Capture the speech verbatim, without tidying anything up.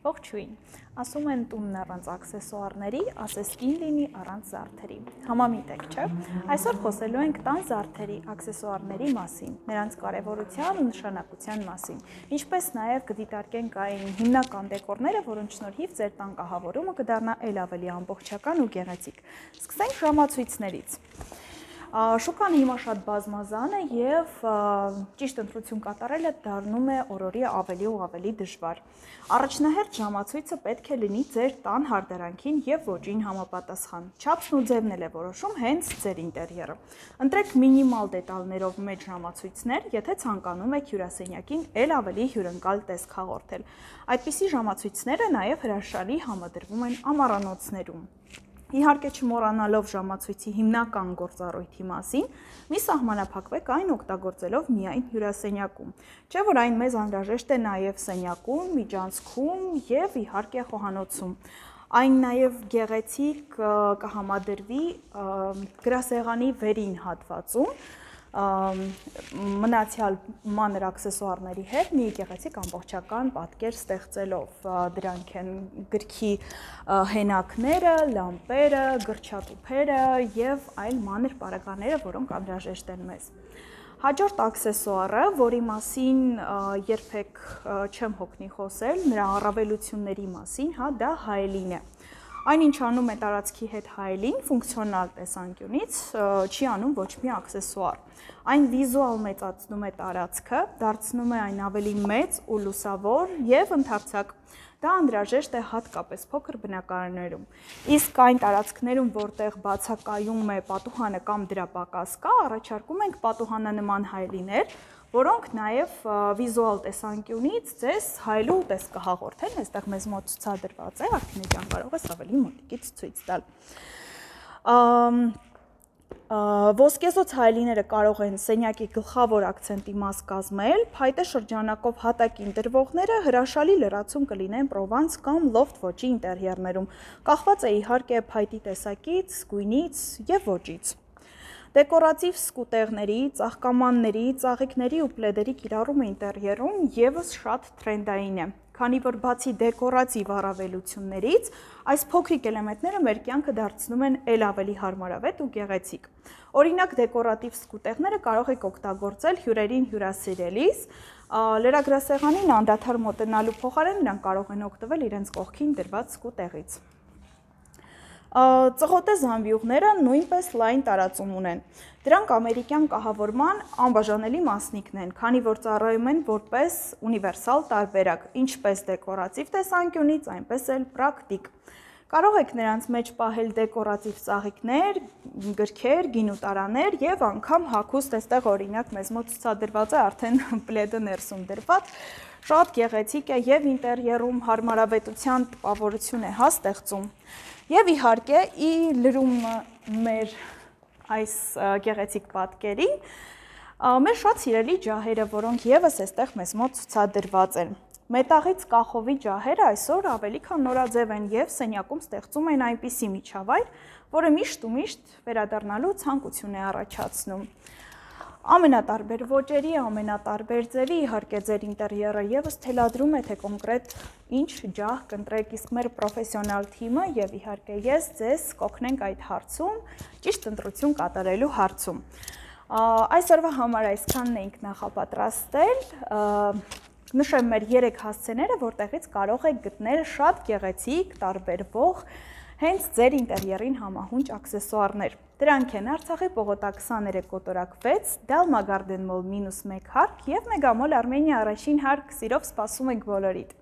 Ողջույն, ասում են տունն առանց աքսեսուարների, ասես կին լինի առանց զարդերի։ Համամիտ եք, չէ՞։ Այսօր խոսելու ենք տան զարդերի, աքսեսուարների մասին, նրանց կարևորության ու նշանակության մասին, ինչպես նաև կդիտարկենք այն հիմնական դեկորները, որոնց շնորհիվ ձեր տան կահավորումը կդառնա ել ավելի ամբողջական ու գեղեցիկ։ Սկսենք ժամացույցներից։ Շուկան հիմա շատ բազմազան է և ճիշտ ընտրություն կատարելը դառնում է օրորի ավելի ու ավելի դժվար։ Առաջնահերթ ժամացույցը պետք է լինի ձեր տան հարդարանքին և ոճին համապատասխան։ Չափսն ու ձևն էլ է որոշում հենց ձեր ինտերիերը։ Ընտրեք մինիմալ դետալներով մեծ ժամացույցներ, եթե ցանկանում եք հյուրասենյակին ել ավելի հյուրընկալ տեսք հաղորդել։ Այդպիսի ժամացույցները նաև հրաշալի համադրվում են ամառանոցներում։ Իհարկե չմոռանալով ժամացույցի հիմնական գործառույթի մասին, մի սահմանափակվեք այն օգտագործելով միայն հյուրասենյակում, չէ՞ որ այն մեզ անհրաժեշտ է նաև սենյակում, միջանցքում և իհարկե խոհանոցում։ Այն նաև գեղեցիկ կհամադրվի գրասեղանի վերին հատվածում, մնացյալ մանր աքսեսուարների հետ մի գեղեցիկ ամբողջական պատկեր ստեղծելով։ Դրանք են գրքի հենակները, լամպերը, գրչատուփերը և այլ մանր պարագաները, որոնք անհրաժեշտ են մեզ։ Հաջորդ աքսեսուարը, որի մասին երբեք չեմ հոգնի խոսել, նրա առավելությունների մասին, հա, դա հայելին է։ Այն, ինչ անում է տարածքի հետ հայելին, ֆունկցիոնալ տեսանկյունից, չի անում ոչ մի աքսեսուար։ Այն վիզուալ մեծացնում է տարածքը, դարձնում է այն ավելի մեծ ու լուսավոր և ընդարձակ։ Դա անհրաժեշտ է հատկապես փոքր բնակարաններում։ Իսկ այն տարածքներում, որտեղ բացակայում է պատուհանը կամ դրա պակաս կա, առաջարկում ենք պատուհանանման հայելիներ, որոնք նաև վիզուալ տեսանկյունից ձեզ հայելու տեսք կհաղորդեն, այստեղ մեզ մոտ ցուցադրված է, Արփինե ջան, կարող ես ավելի մոտիկից ցույց տալ։ Ոսկեզօծ հայելիները կարող են սենյակի գլխավոր աքցենտի մաս կազմել, փայտե շրջանակով հատակին դրվողները հրաշալի լրացում կլինեն Պրովանս կամ լոֆթ ոճի ինտերիերներում, կախված է իհարկե փայտի տեսակից, գույնից և ոճից։ Դեկորատիվ սկուտեղների, ծաղկամանների, ծաղիկների ու պլեդերի կիրառումը ինտերիերում ևս շատ թրենդային է, քանի որ բացի դեկորատիվ առավելություններից, այս փոքրիկ էլեմենտները մեր կյանքը դարձնում են ել ավելի հարմարավետ ու գեղեցիկ։ Օրինակ, դեկորատիվ սկուտեղները կարող եք օգտագործել հյուրերին հյուրասիրելիս, լրագրասեղանին անդադար մոտենալու փոխարեն նրանք կարող են օգտվել իրենց կողքին դրված սկուտեղից։ Ծղոտե զամբյուղները նույնպես լայն տարածում ունեն։ Դրանք ամերիկյան կահավորման անբաժանելի մասնիկն են, քանի որ ծառայում են որպես ունիվերսալ տարբերակ, ինչպես դեկորատիվ տեսանկյունից, այնպես էլ պրակտիկ։ Կարող եք նրանց մեջ պահել դեկորատիվ ծաղիկներ, գրքեր, գինուտարաներ և անգամ հագուստ, այստեղ օրինակ մեզ մոտ ցուցադրված է արդեն պլեդը ներսում դրված, շատ գեղեցիկ է և ինտերիերում հարմարավետության տպավորություն է հա ստեղծում։ Եվ իհարկե, ի լրում մեր այս գեղեցիկ պատկերին, մեր շատ սիրելի ջահերը, որոնք ևս այստեղ մեզ մոտ ցուցադրված են։ Մետաղից կախովի ջահերը այսօր ավելի քան նորաձև են և սենյակում ստեղծում են այնպիսի միջավայր, որը միշտ ու միշտ վերադառնալու ցանկություն է առաջացնում։ Ամենատարբեր ոճերի, ամենատարբեր ձևի, իհարկե ձեր ինտերիերը ևս թելադրում է, թե կոնկրետ ինչ ջահ կընտրեք, իսկ մեր պրոֆեսիոնալ թիմը և իհարկե ես ձեզ կօգնենք այդ հարցում, ճիշտ ընտրություն կատարելու հարցում։ Այսօրվա համար այսքանն էինք նախապատրաստել, նշեմ մեր երեք հասցեները, որտեղից կարող եք գտնել շատ գեղեցիկ, տարբերվող, հենց ձեր ինտերիերին համահունչ աքսեսուարներ։ Դրանք են Արցախի պողոտա քսաներեք կոտորակ վեց, Դալմա Գարդեն մոլ մինուս մեկ հարկ և Մեգամոլ Արմենիա առաջին հարկ, սիրով սպասում ենք բոլորիդ։